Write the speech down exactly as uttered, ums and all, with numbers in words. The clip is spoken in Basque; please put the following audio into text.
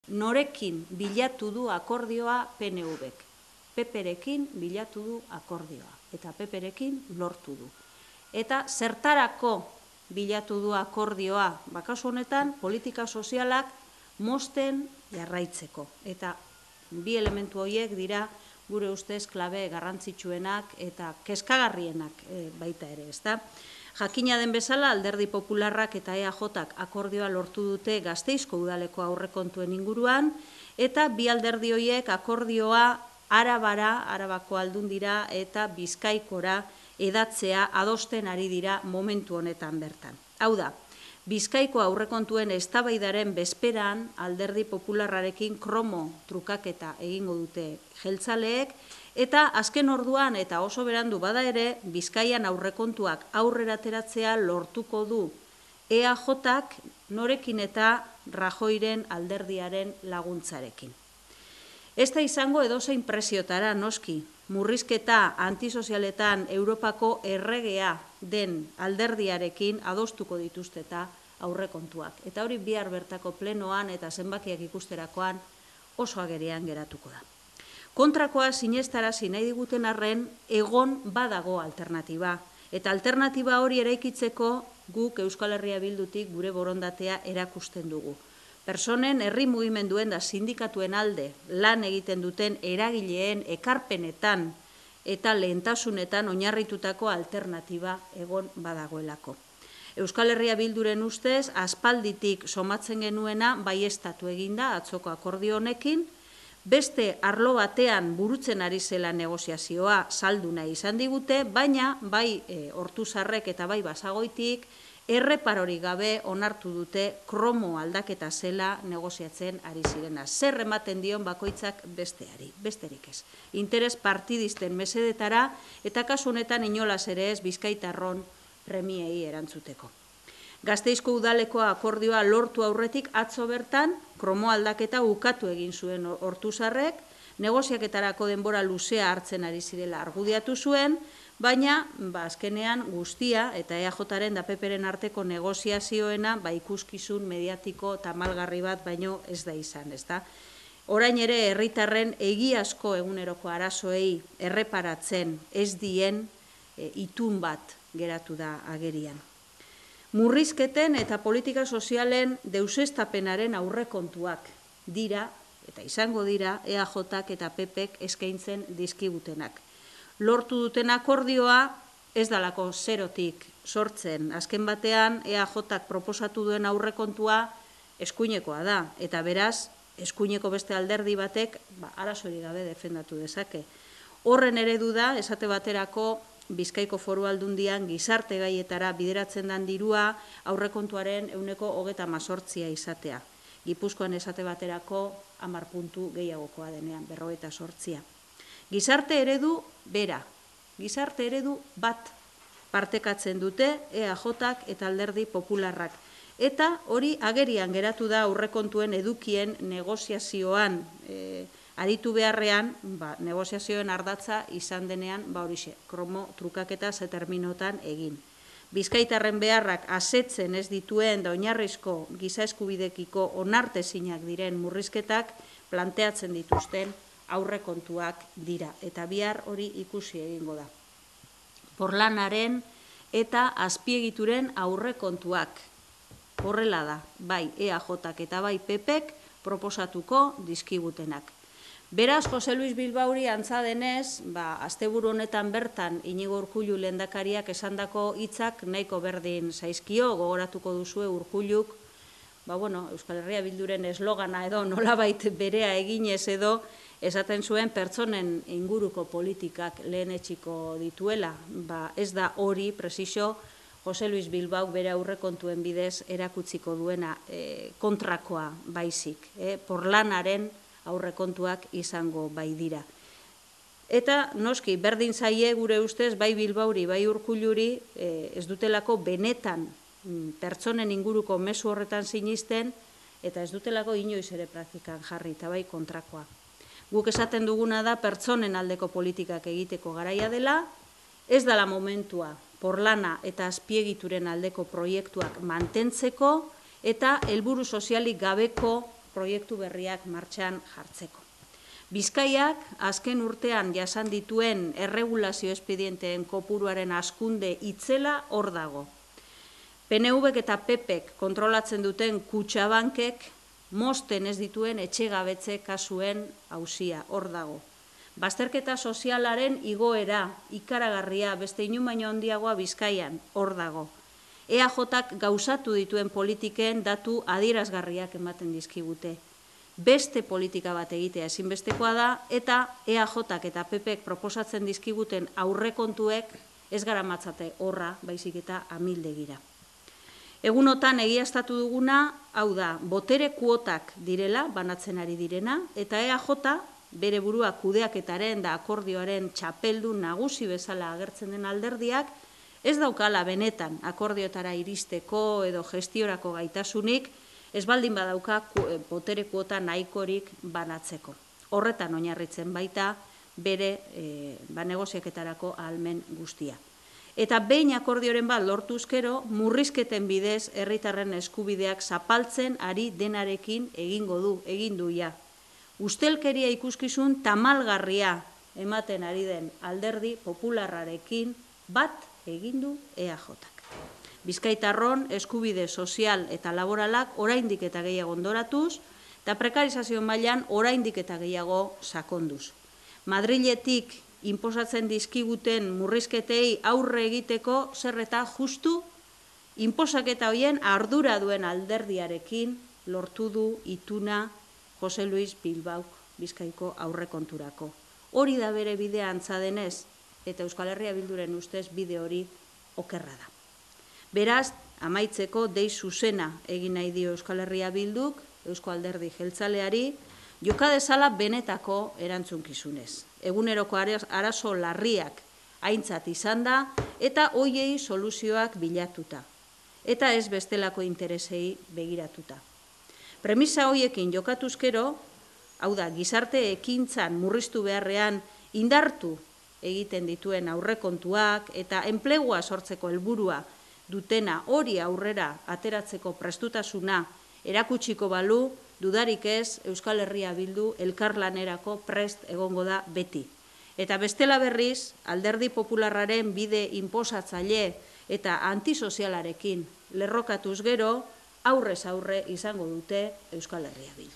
norekin bilatu du akordioa P N V-ek. P P-rekin bilatu du akordioa, eta P P-rekin lortu du. Eta zertarako bilatu du akordioa, kasu honetan, politika sozialak mozten jarraitzeko. Eta bi elementu horiek dira gure ustez klabe garrantzitsuenak eta kezkagarrienak baita ere, ezta? Jakina den bezala, Alderdi Popularrak eta E A Jak akordioa lortu dute Gasteizko udaleko aurrekontuen inguruan, eta bi alderdi horiek akordioa Arabara, Arabako Aldundira eta Bizkaikora edatzea adosten ari dira momentu honetan bertan. Hau da, Bizkaiko aurrekontuen eztabaidaren bezperan Alderdi Popularrarekin kromo trukaketa egingo dute jeltzaleek, eta azken orduan eta oso berandu bada ere, Bizkaian aurrekontuak aurrera ateratzea lortuko du E A Jak norekin eta Rajoyren alderdiaren laguntzarekin. Ez da izango edozein presiotara noski, murrizketa antisozialetan Europako erregea den alderdiarekin adostuko dituzte eta aurrekontuak. Eta hori bihar bertako plenoan eta zenbakiak ikusterakoan oso agerian geratuko da. Kontrakoa sinestarazi nahi diguten arren egon badago alternatiba. Eta alternatiba hori eraikitzeko guk Euskal Herria Bildutik gure borondatea erakusten dugu. Personen herri mugimenduen da sindikatuen alde lan egiten duten eragileen ekarpenetan eta lehentasunetan oinarritutako alternatiba egon badagoelako. Euskal Herria Bilduren ustez, aspalditik somatzen genuena baieztatu eginda atzoko akordio honekin, beste arlo batean burutzen ari zela negoziazioa saldu nahi izan digute, baina bai Ortuzarrek eta bai Basagoitik erreparorik gabe onartu dute kromo aldaketa zela negoziatzen ari zirena. Zer ematen dion bakoitzak besteari, besterik ez. Interes partidisten mesedetara eta kasu honetan inolaz ere ez Bizkaitarron premiei erantzuteko. Gasteizko udaleko akordioa lortu aurretik atzo bertan, kromo aldaketa ukatu egin zuen Ortuzarrek, negoziaketarako denbora luzea hartzen ari zirela argudiatu zuen, baina azkenean guztia eta E A Jaren da P P-ren arteko negoziazioena ikuskizun mediatiko tamalgarri bat baino ez da izan, ezta? Orain ere herritarren egiazko eguneroko arazoei erreparatzen ez dien itun bat geratu da agerian. Murrizketen eta politika sozialen deusestapenaren aurrekontuak dira, eta izango dira, E A Jak eta P P-ek eskaintzen dizkigutenak. Lortu duten akordioa ez dalako zerotik sortzen. Azken batean, E A Jak proposatu duen aurrekontua eskuinekoa da, eta beraz, eskuineko beste alderdi batek arazorik gabe defendatu dezake. Horren eredu da, esate baterako, Bizkaiko Foru Aldundian gizarte gaietara bideratzen den dirua aurrekontuaren ehuneko hogeita hamazortzia izatea. Gipuzkoan esate baterako hamar puntu gehiagokoa denean, berrogeita zortzia. Gizarte eredu bera, gizarte eredu bat partekatzen dute E A Jak eta Alderdi Popularrak. Eta hori agerian geratu da aurrekontuen edukien negoziazioan aritu beharrean, negoziazioen ardatza izan denean, horixe, kromo trukaketa ze terminotan egin. Bizkaitarren beharrak asetzen ez dituen da oinarrizko giza eskubidekiko onartezinak diren murrizketak planteatzen dituzten aurrekontuak dira. Eta bihar hori ikusi egingo da. Porlanaren eta azpiegituren aurrekontuak. Horrela da, bai E A Jak eta bai P P-ek proposatuko dizkigutenak. Beraz, Jose Luis Bilbauri antza denez, asteburu honetan bertan Inigo Urkullu lehendakariak esandako hitzak nahiko berdin zaizkio, gogoratuko duzue Urkulluk, Euskal Herria Bilduren eslogana edo nolabait berea eginez edo esaten zuen pertsonen inguruko politikak lehenetsiko dituela. Ez da hori, presizio, Jose Luis Bilbauk bere aurrekontuen bidez erakutsiko duena kontrakoa baizik, porlanaren aurrekontuak izango bai dira. Eta, noski, berdin zaie gure ustez, bai Bilbauri, bai Urkulluri, ez dutelako benetan pertsonen inguruko mezu horretan sinisten, eta ez dutelako inoiz ere praktikan jarri, eta bai kontrakoa. Guk esaten duguna da pertsonen aldeko politikak egiteko garaia dela, ez dela momentua porlana eta azpiegituren aldeko proiektuak mantentzeko, eta helburu sozialik gabeko proiektu berriak martxan jartzeko. Bizkaiak azken urtean jasan dituen erregulazio espedienteen kopuruaren hazkunde itzela hor dago. P N Vek eta P Pek kontrolatzen duten Kutxabankek mozten ez dituen etxegabetze kasuen auzia hor dago. Bazterketa sozialaren igoera ikaragarria beste inun baino handiagoa Bizkaian hor dago. E A Jak gauzatu dituen politiken datu adierazgarriak ematen dizkigute. Beste politika bat egitea ezinbestekoa da eta E A Jak eta P Pek proposatzen dizkiguten aurrekontuek ez garamatzate horra, baizik eta amildegira. Egunotan egiaztatu duguna, hau da, botere kuotak direla, banatzen ari direna, eta E A J bere burua kudeaketaren da akordioaren txapeldun nagusi bezala agertzen den alderdiak, ez daukala benetan akordioetara iristeko edo gestiorako gaitasunik, ez baldin badauka botere kuota nahikorik banatzeko. Horretan oinarritzen baita bere negoziaketarako ahalmen guztia. Eta behin akordioren bat lortuzkero, murrizketen bidez herritarren eskubideak zapaltzen ari denarekin egingo du, egin duia. Ustelkeria ikuskizun tamalgarria ematen ari den alderdi popularrarekin bat egin du E A Jak. Bizkaitarron eskubide sozial eta laboralak oraindik eta gehiago ondoratuz, eta prekarizazio mailan oraindik eta gehiago sakonduz. Madriletik inposatzen dizkiguten murrizketei aurre egiteko zer eta justu inposaketa hoien ardura duen alderdiarekin lortu du ituna Jose Luis Bilbaok Bizkaiko aurrekonturako. Hori da bere bidea antza denez, eta Euskal Herria Bilduren ustez bide hori okerra da. Beraz, amaitzeko dei zuzena egin nahi dio Euskal Herria Bilduk, Eusko Alderdi Jeltzaleari, joka dezala benetako erantzunkizunez. Eguneroko arazo larriak aintzat izan da eta hoiei soluzioak bilatuta. Eta ez bestelako interesei begiratuta. Premisa hoiekin jokatuzkero, hau da, gizarte ekintzan murriztu beharrean indartu egiten dituen aurrekontuak eta enplegua sortzeko helburua dutena hori aurrera ateratzeko prestutasuna erakutsiko balu, dudarik ez Euskal Herria Bildu elkarlanerako prest egongo da beti. Eta bestela berriz, alderdi popularraren bide inposatzaile eta antisozialarekin lerrokatuz gero, aurrez aurre izango dute Euskal Herria Bildu.